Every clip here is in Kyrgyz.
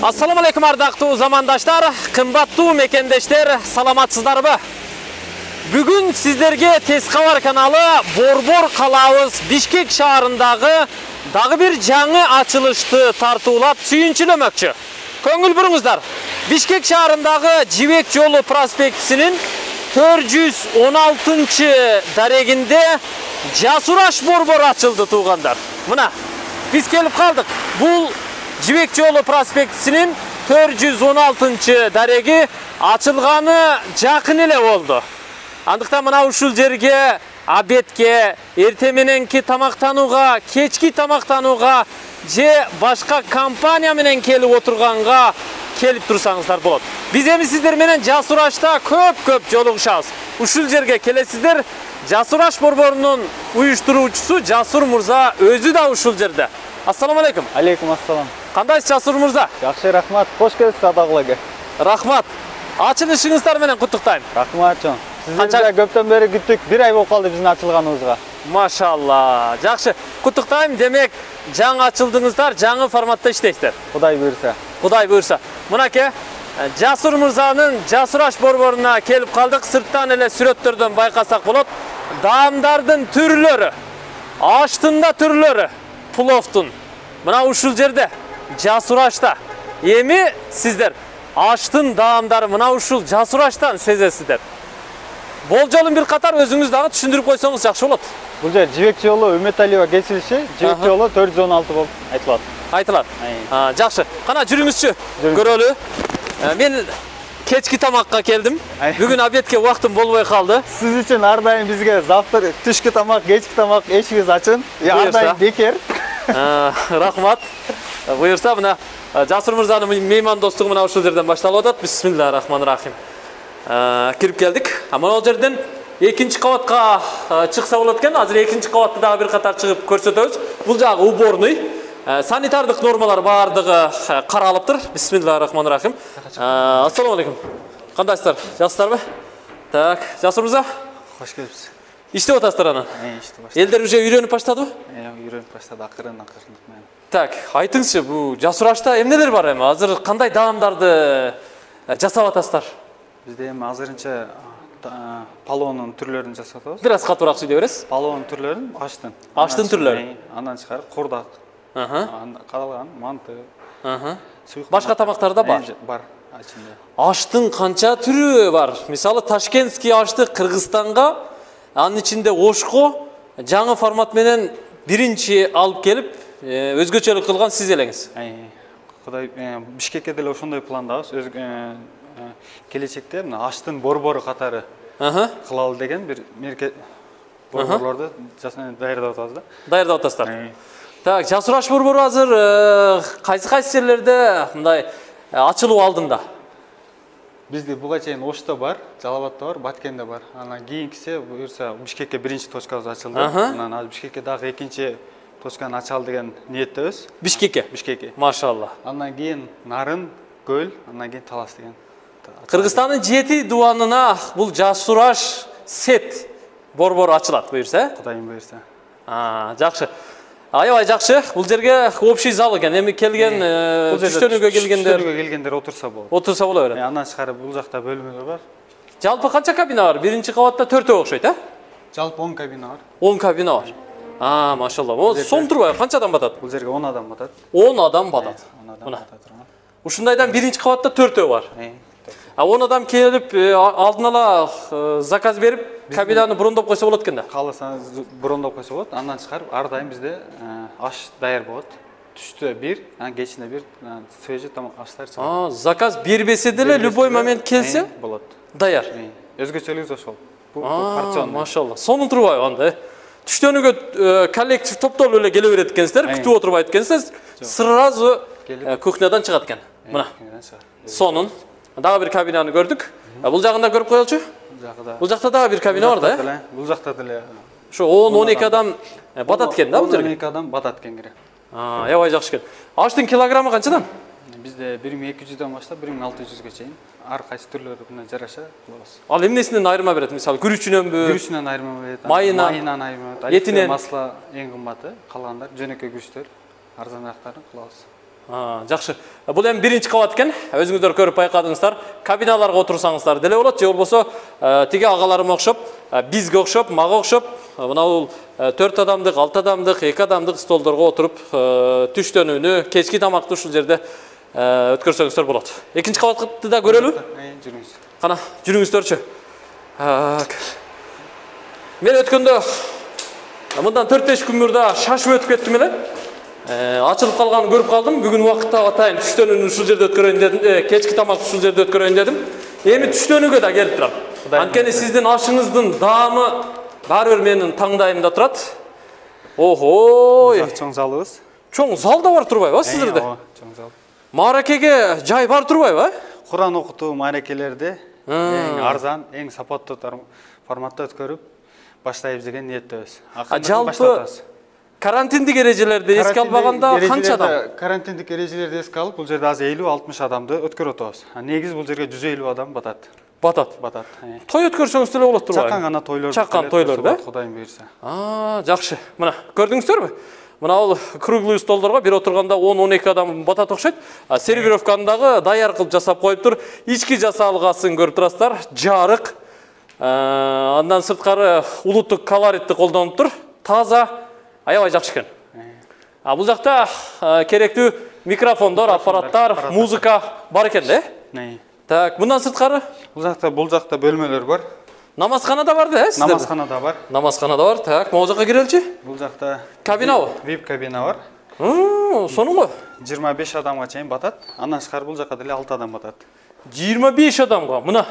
Assalamu alaikum ардактуу замандаштар, кымбаттуу мекендештер, саламатсыздарбы? Бүгүн сиздерге Тез кабар каналы Борбор калабыз Бишкек шаарындагы дагы бир жаңы ачылышты тартуулап сүйүнчүлөмөкчү. Көңүл буруңуздар. Бишкек шаарындагы Жибек жолу проспектисинин 416 дарегинде Жасураш борбор ачылды туугандар. Мына биз келип калдык. Бул Жибек жолу проспектисинин 416 дареги ачылганы жакын эле болду. Андыктан мына ушул жерге обедке, эртең мененки тамактанууга, кечки тамактанууга же башка компания менен келип отурганга келип турсаңыздар болот. Биз эми сиздер менен Жасурашта көп жолугушабыз. Ушул жерге келесиздер. Жасураш борборунун уюштуруучусу Жасур мырза өзү да ушул жерде. Ассаламу алейкум. Алейкум ассалам. Кандайсыз Жасур мырза? Жакшы, рахмат. Кош келипсиз Адагылага. Рахмат. Ачылышыңыздар менен куттуктайм. Рахмат жон. Сиздерди көптөн бери күттүк. Бир ай болуп калды биздин ачылганыбызга. Машалла. Жакшы. Куттуктайм. Демек, жаңы ачылдыңыздар, жаңы форматта иштейсиздер. Кудай буйрса. Кудай буйрса. Мынаке Жасур мырзанын Жасураш борборуна келип калдык. Сырттан эле сүрөттөрдөн байкасак болот. Даамдардын түрлөрү, аштын да түрлөрү, пловтун. Мына ушул жерде Жасурашта. Эми сиздер аштын даамдары мына ушул Жасураштан сезесиздер. Болжолун бир катар өзүңүз дагы түшүндүрүп койсоңуз жакшы болот. Бул жер Жибек жолу Үмөталиева кесилиши, Жибек жолу 416 болуп айтылат. Айтылат. Жакшы. Кана жүрүңүзчү. Көрөлү. Мен кечки тамакка келдим. Бүгүн обедке убактым болбой калды. Сиз үчүн ар дайым бизге завтра түшкү тамак, кечки тамак эшигиңиз ачын. Ар дайым бекер. Рахмат. Буйрса мына Жасур мырзанын меймандостугу мына ушул жерден башталып атат. Бисмиллахир-рахманир-рахим. Кирип келдик. Мына ал жерден экинчи кабатка чыкса болот экен. Азыр экинчи кабатты дагы бир катар чыгып көрсөтөбүз. Бул жагы уборный. Санитардык нормалар баардыгы каралыптыр. Бисмиллахир-рахманир-рахим. Ассаламу алейкум. Кандайсыздар? Жакшысыздарбы? Так, Жасур мырза. Кош келипсиз. Иштеп атасыздар аны? Иштеп баштадым. Элдер уже үйрөнүп баштадыбы? Үйрөнүп баштады акырын менен. Так, айтыңызчы, бул Жасурашта эмнелер бар эми? Азыр кандай даамдарды жасап атасыздар? Бизде эми азырынча палоонун түрлөрүн жасап атабыз. Бир аз катуураак сүйлөй бересиз? Палоон түрлөрүн аштын. Аштын түрлөрү. Андан чыгарып курдак. Калган манты. Башка тамактар да бар? Бар ичинде. Аштын канча түрү бар? Мисалы Ташкентский ашты Кыргызстанга, анын ичинде ошко жаңы формат менен биринчи алып келип, өзгөчөлүк кылган сиз элеңиз. Кудай Бишкекке деле ошондой пландабыз. Келечекте мына аштын борбору катары кылалы деген бир мерке борборлорду даярдап атабыз да. Даярдап атасыздар. Так, Жасураш борбору азыр кайсы жерлерде мындай ачылуу алдында? Бизде буга чейин Ошто бар, Жалал-Абадта бар, Баткенде бар. Анан кийинкиси буюрса Бишкекке биринчи точкабыз ачылды. Анан азыр Бишкекке дагы экинчи точканы ачалы деген ниеттебиз. Бишкекке? Бишкекке. Машалла. Андан кийин Нарын, Көл, андан кийин Талас деген. Кыргызстандын 7 дубанына бул Жасураш сет борбору ачылат буюрса. Кудайым буюрса. Жакшы. Аябай жакшы. Бул жерге общий зал экен. Эми келген түштөнүүгө келгендер отурса болот. Отурса боло берет. Андан чыгарып бул жакта бөлмөлөр бар. Жалпы канча кабина бар? Биринчи кабатта 4 окшойт, Жалпы 10 кабина бар. 10 кабина бар. Машалла. Сом турбайбы? Канча адам батат? Бул жерге 10 адам батат. 10 адам батат. Мына. Ушундайдан биринчи кабатта 4 бар. 10 адам келип, алдын ала заказ берип, кабинаны брондоп койсо болот экен да. Кааласаңыз брондоп койсо болот. Андан чыгарып ар дайым бизде аш даяр болот. Түштө 1, кечинде 1, свежий тамак аштар чыгат. Заказ бербесе деле любой момент келсе болот. Даяр. Өзгөчөлүгү ошол. Бул порцион. Машалла. Сонун турбайбы анда? Түштөнүүгө коллектив топтолуп эле келе берет экенсиздер, күтүп отурбайт экенсиз, сразу кухнядан чыгат экен. Мына. Сонун. Дагы бир кабинаны көрдүк. Бул жагында көрүп коелучу? Бул жакта дагы бир кабина бар да? Бул жакта деле. Ошо 10-12 адам батат экен да бул жерге? 12 адам батат экен кире. Аябай жакшы экен. Аштын килограммы канчадан? Бизде 1200дөн баштап 1600ге чейин ар кайсы түрлөрүнө жараша кылабыз. Ал эмнесинен айырма берет? Мисалы, күрүчүнөнбү? Күрүчүнөн айырма берет. Майынан айырма берет. Этинен масла эң кымбаты, калгандар жөнөкөй күрүчтөр, арзанырактарын кылабыз. Жакшы. Бул эми биринчи кабат экен. Өзүңүздөр көрүп байкадыңыздар. Кабиналарга отурсаңыздар деле болот, же болбосо тиги агаларыма окшоп, бизге окшоп, мага окшоп, мына бул 4 адамдык, 6 адамдык, 2 адамдык столдорго отуруп, түштөнүүнү, кечки тамакты ушул жерде өткөрсөңүздөр болот. Экинчи кабатты да көрөлү? Жүрүңүз. Кана, жүрүңүздөрчү. Мен өткөндө мындан 4-5 күн мурда шашып өтүп кеттим эле. Ачылып калганын көрүп калдым. Бүгүн убакытта атайын түштөнүүнү ушул жерде өткөрөйүн дедим. Кечки тамакты ушул жерде өткөрөйүн дедим. Эми түштөнүүгө да келип турам. Анткени сиздин ашыңыздын даамы баары бир менин таңдайымда турат. Охо! Чоң залыбыз. Чоң зал да бар турбайбы сиздерде? Чоң зал. Мааракеге жай бар турбайбы? Куран окутуу мааракелерди эң арзан, эң сапаттуу форматта өткөрүп баштайбыз деген ниеттебиз. Жалпы карантиндик эрежелерди эске албаганда канча адам? Карантиндик эрежелерди эске алып, бул жерде азыр 50-60 адамды өткөрүп атабыз. Негизи бул жерге 150 адам батат. Батат. Той өткөрсөңүз деле болот турбайбы? Чакан гана тойлор. Чакан тойлор да? Кудайым буйрса. Жакшы. Мына, көрдүңүздөрбү? Мына бул круглый столдорго бир отурганда 10-12 адам батат окшойт. Сервировканы дагы даяр кылып жасап коюптур. Ички жасалгасын көрүп турасыздар. Жарык. Андан сырткары улуттук колоритти колдонуптур. Таза, аябай жакшы экен. Бул жакта керектүү микрофондор, аппараттар, музыка бар экен да? Так, мындан сырткары? Бул жакта бөлмөлөр бар. Намазхана да бар да, сиздерде? Намазхана да бар. Намазхана да бар. Так, могу жакка киреличи? Бул жакта кабинабы? VIP кабина бар. Сонун го. 25 адамга чейин батат. Андан тышкары бул жакка деле 6 адам батат. 25 адамга мына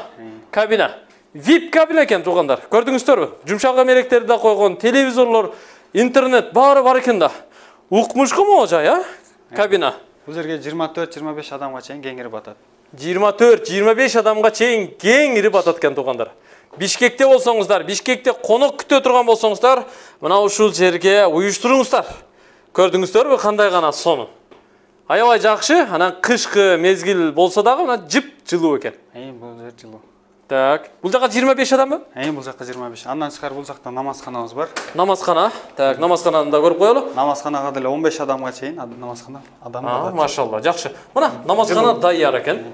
кабина. VIP кабина экен туугандар. Көрдүңүздөрбү? Жумшак эмеректерди да койгон, телевизорлор, интернет баары бар экен да. Укмушку могу жай, кабина. Бул жерге 24-25 адамга чейин кеңири батат. 24-25 адамга чейин кеңири батат экен туугандар. Бишкекте болсоңуздар, Бишкекте конок күтө турган болсоңуздар, мына ушул жерге уюштуруңуздар. Көрдүңүздөрбү кандай гана сонун. Аябай жакшы, анан кышкы мезгил болсо дагы мына жып жылуу экен. Бул жер жылуу. Так, бул жака 25 адамбы? Бул жака 25. Андан тышкары бул жакта намазханабыз бар. Намазхана. Так, намазхананы да көрүп коелу. Намазханага деле 15 адамга чейин намазхана адам бар. Машалла, жакшы. Мына намазхана даяр экен.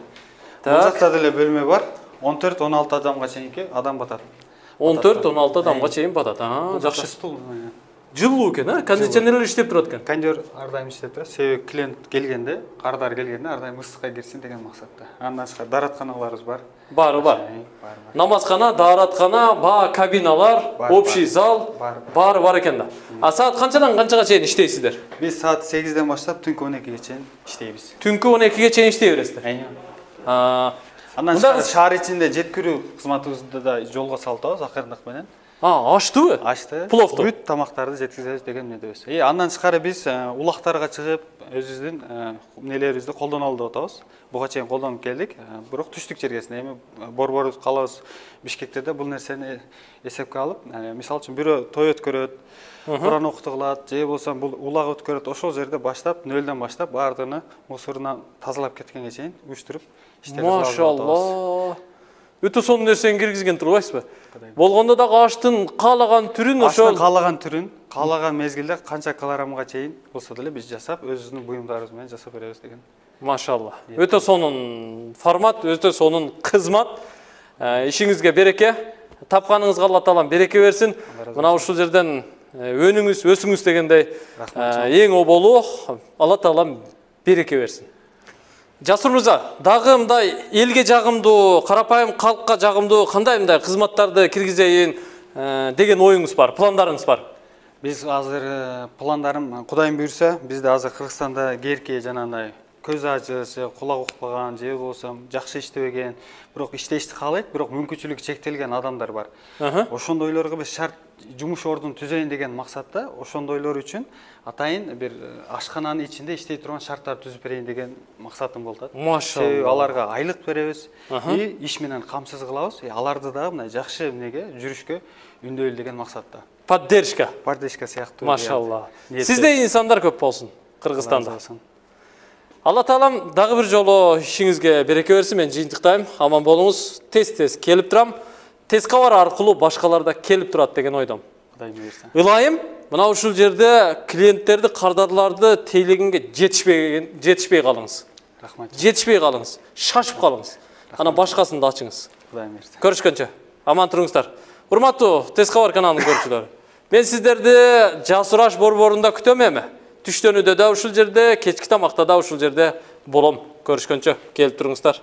Бул жакта деле бөлмө бар. 14-16 адамга чейинки адам батат. 14-16 адамга чейин батат. Жакшы. Стул. Жылуу экен, кондиционерлер иштеп турат экен. Кондер ар дайым иштеп турат. Себеби клиент келгенде, кардар келгенде ар дайым ысыкка кирсин деген максатта. Андан тышкары дааратканаларыбыз бар. Баары бар. Намазхана, даараткана, кабиналар, общий зал баары бар экен да. Саат канчадан канчага чейин иштейсиздер? Биз саат 8ден баштап түнкү 12ге чейин иштейбиз. Түнкү 12ге чейин иштей бересиздер. Андан тышкары шаар ичинде жеткирүү кызматыбызды да жолго салып акырындык менен. Аштыбы? Ашты. Пловду. Бүт тамактарды жеткизебиз деген мүнөдөбүз. Андан тышкары биз улактарга чыгып, өзүбүздүн нелерибизди колдоно алып атабыз. Буга чейин колдонуп келдик. Бирок түштүк жергесине эми борборубуз калабыз Бишкекте бул нерсени эсепке алып, мисалы үчүн бирөө той өткөрөт, Куран окутуу кылат, же болсо бул улак өткөрөт, ошол жерде баштап, нөлдөн баштап баардыгын мусорунан тазалап кеткенге чейин уюштуруп иштеп жатабыз. Машалла. Өтө сонун нерсени киргизген турбайсызбы? Болгондо дагы аштын каалаган түрүн ошол каалаган түрүн, каалаган мезгилде канча килограммга чейин болсо деле биз жасап, өзүбүздүн буюмдарыбыз менен жасап беребиз деген. Машалла. Өтө сонун формат, өтө сонун кызмат. Ишиңизге береке. Тапканыңызга Алла таалам береке берсин. Мына ушул жерден өнүңүз, өсүңүз дегендей эң оболу Алла таалам береке берсин. Жасур мырза, дагы мындай элге жагымдуу, карапайым калкка жагымдуу кандай мындай кызматтарды киргизейин деген оюңуз бар, пландарыңыз бар? Биз азыр пландарым, Кудайым буйрса, бизде азыр Кыргызстанда керки жанагындай көз ачыш, кулак укпаган, же болсо жакшы иштебеген, бирок иштешти каалайт, бирок мүмкүнчүлүгү чектелген адамдар бар. Ошондойлорго биз шарт жумуш ордун түзөйүн деген максатта, ошондойлор үчүн атайын бир ашкананын ичинде иштей турган шарттар түзүп берейин деген максатым болот. Машалла. Себеби аларга айлык беребиз, иш менен камсыз кылабыз, аларды дагы мындай жакшы эмнеге жүрүшкө үндөйлү деген максатта. Поддержка. Поддержка сыяктуу. Машалла. Сиздей инсандар көп болсун Кыргызстанда. Алла таалам дагы бир жолу ишиңизге береке берсин. Мен жыйынтыктайм. Аман болуңуз. Тез келип турам. Тез кабар аркылуу башкалар да келип турат деген ойдом. Кудай буйрса. Ылайым Мына ушул жерде клиенттерди, кардарларды тейлегенге жетишпей калыңыз. Рахмат. Жетишпей калыңыз. Шашып калыңыз. Ана башкасын да ачыңыз. Кудай мээрси. Көрүшкөнчө. Аман туруңуздар. Урматтуу Тез кабар каналынын көрүүчүлөрү. Мен сиздерди Жасур аш борборунда күтөм эми. Түштөнүдө да ушул жерде, кечки тамакта да ушул жерде болом. Көрүшкөнчө. Келип туруңуздар.